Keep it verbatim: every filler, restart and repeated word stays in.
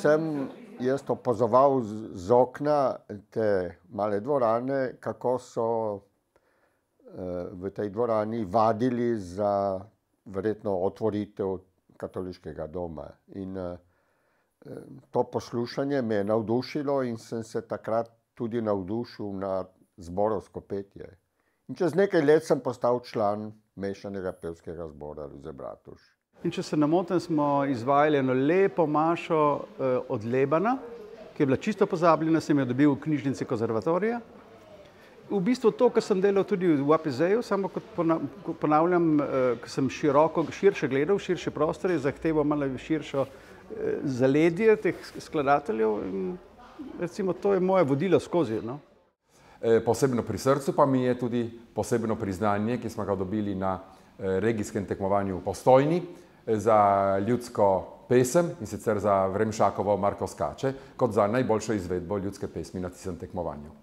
sem jaz opazoval z, z okna te male dvorane, kako so uh, v tej dvorani vadili za verjetno otvoritev katoliškega doma. In uh, to poslušanje me je navdušilo in sem se takrat tudi navdušil na zborovsko petje. In čez nekaj let sem postal član mešanega pevskega zbora Ljuze Bratuš. In če se ne motim, smo izvajali eno lepo mašo eh, od Lebana, ki je bila čisto pozabljena, sem jo dobil v knjižnici konzervatorija. V bistvu to, kar sem delal tudi v A P Z-ju, samo kot ponavljam, eh, ko sem široko, širše gledal, širše prostore, zahteval malo širšo eh, zaledje teh skladateljev in recimo to je moje vodilo skozi. No? E, posebno pri srcu pa mi je tudi posebno priznanje, ki smo ga dobili na e, regijskem tekmovanju v Postojni za ljudsko pesem, in sicer za Vremšakovo Marko skače, kot za najboljšo izvedbo ljudske pesmi na tistem tekmovanju.